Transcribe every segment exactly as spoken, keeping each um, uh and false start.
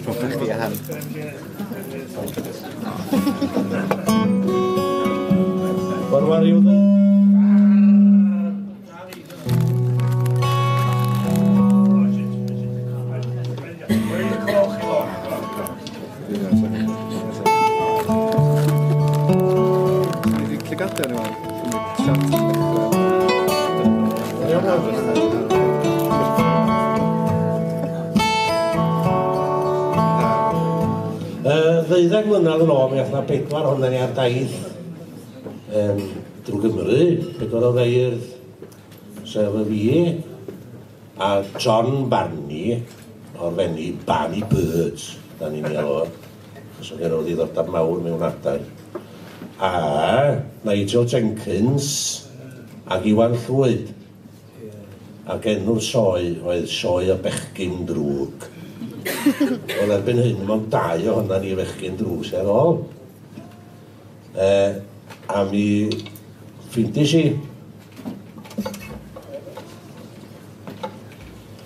Proper chdi a han. What are you there? Ddeuddeg mlynedd yn ôl, mi ath 'na bedwar ohonan ni ar daith um, drwy Gymru, pedwar o feirdd, sef y fi, a John Barney, o'r fenni Barney Birds, da ni'n ei alw, achos oedd gen o ddiddordeb mawr mewn adar, a Nigel Jenkins ac Iwan Llwyd. Ac enw'r sioe oedd Sioe o Bechgyn Drwg. Wel, erbyn hyn, mond dau ohonan ni fechgyn drwg sydd ar ôl. E, a mi ffeindies i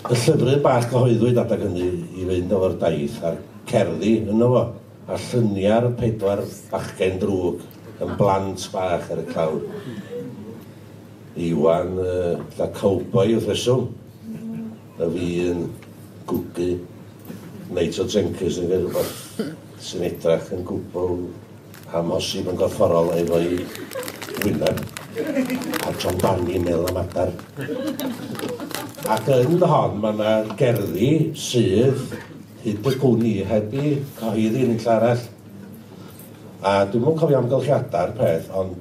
y llyfryn bach gyhoeddwyd adeg hynny i fynd efo'r daith a'r cerddi yno fo, a lluniau'r pedwar bachgen drwg yn blant bach ar y clawr. Iwan, uh, fatha cowboy wrth reswm, a fi yn gwgu. Nigel Jenkins yn gwneud rhywbeth sy'n edrach yn gwbl amhosib yn gorfforol efo'i wyneb. A John Barney yn meddwl am adar. Ac yn hon mae yna gerddi sydd hyd y gwn i heb i cyhoeddi yn unlle arall. A dwi'm yn cofio amgylchiadau'r peth, ond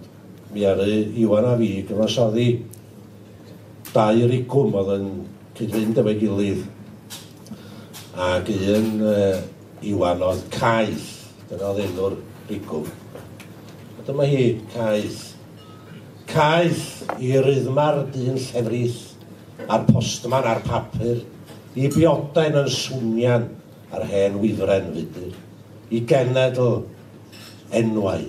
mi aru Iwan a fi gyfansoddi dau rigwm oedd yn cyd-fynd efo'i gilydd. Ac un uh, Iwan oedd Caeth, dyna oedd enw'r rigwm. A dyma hi, Caeth. Caeth i ryddma'r dyn llefrith, a'r postman a'r papur, i bioden yn swnian a'r hen wifren fudur, i genedl enwau,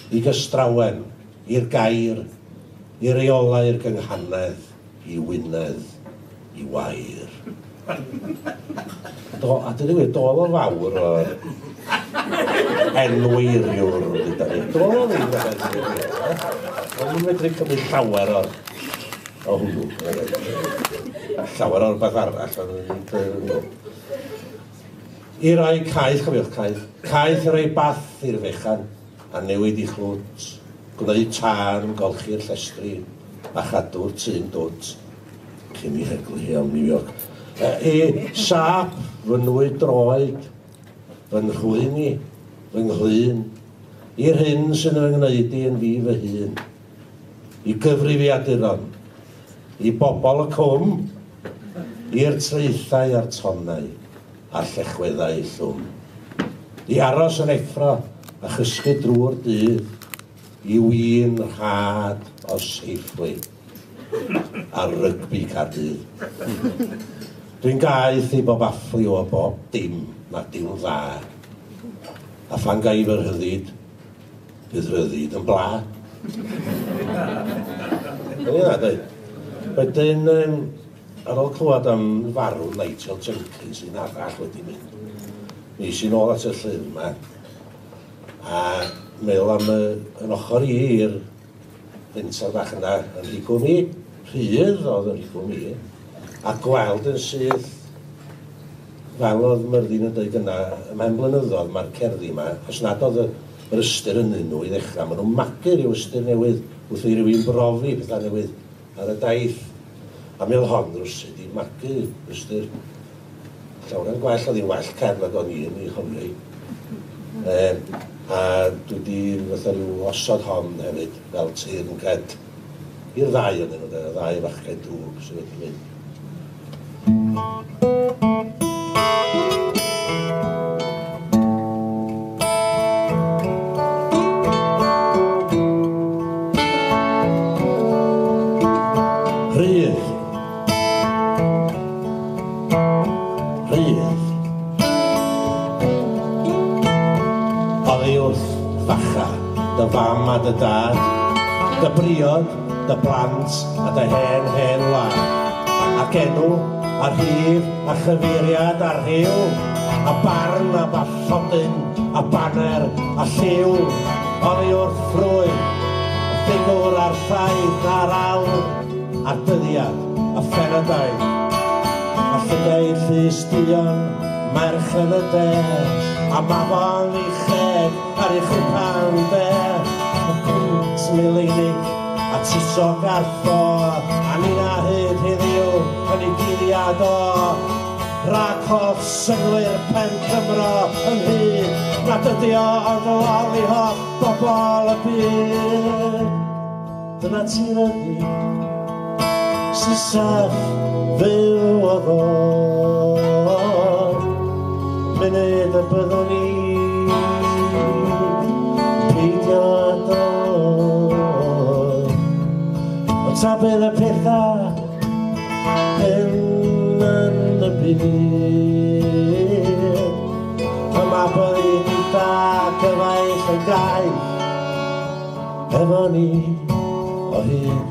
i gystrawen, i'r gair, i reolau'r gynghanedd, i Wynedd, i wair. Do, a dyn nhw, dol o fawr o'r enweiriwr, dyn ni. Dol o ddim yn Ond nhw'n medru cymryd llawer o'r o hwnnw. Llawer o'r beth arall. I roi caeth, cofiwch caeth, caeth i roi bath i'r fechan a newid i chlwt, gwneud tân, golchi'r llestri a chadw'r tŷ'n dwt cyn i heglu hi am New York. I sap fy nwy droed, fy nhrwyn i, fy nghlun, i'r hyn sy'n fy ngwneud i yn fi fy hun, i gyfrifiaduron, i bobl y cwm, i'r traethau a'r tonnau, a'r llechweddau llwm, i aros yn effro a chysgu drwy'r dydd, i win rhad o Safeway a rygbi Caerdydd. Dwi'n gaeth i bob affliw o bob dim nad yw'n dda. A phan ga i fy rhyddid, bydd rhyddid yn bla. Dyna dweud. Wedyn, um, ar ôl clywed am farw Nigel Jenkins, un arall wedi mynd, mi es i nôl at y llyfr yma, a meddwl am y, yn ochr i i'r fenter bach yna yn rigwm i, rhydd oedd yn rigwm i, a gweld yn syth, fel oedd Myrddin yn dweud yna, ymhen blynyddoedd mae'r cerddi yma, os nad oedd yr ystyr ynddyn nhw i ddechrau, maen nhw'n magu ryw ystyr newydd wrth i rywun brofi pethau newydd ar y daith. A mi oedd hon rywsut i magu ystyr llawer yn gwell, oedd hi'n well cerdd nag o'n i yn ei chofio hi. E, a dwi wedi fatha rhyw osod hon hefyd fel teyrnged i'r ddau ohonyn nhw, y ddau fachgen drwg sydd wedi mynd. Rhydd. Rhydd. Oddi wrth facha, dy fam a dy dad, Dy briod, dy blant a dy hen hen wlad. Ac enw, a rhif, a chyfeiriad, a rhyw, a barn, a bathodyn, a baner, a lliw, oddi wrth ffrwyth, y ffigwr a'r ffaith, a'r awr, a'r dyddiad, a phenadaeth, a llygaid llys duon, merch yn y de, a mafon i cheg ar ei chwpan de, y pwynt mileinig, a tusog ar ffo, a nina hyd heddiw yn ei guddiad o, rhag holl synnwyr pen Cymro ynghyd, nad ydi o ond loli holl bobl y byd. Dyna ti ryddid, sy'n saff fyw o ddod, munud y byddwn ni peidio â dod. Ond ta bydd y pethau hyn yn y byd, yma byddi gyda gyfaill yn gaeth efo ni o hyd,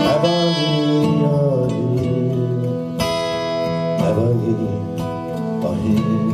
efo ni o hyd, efo ni o hyd.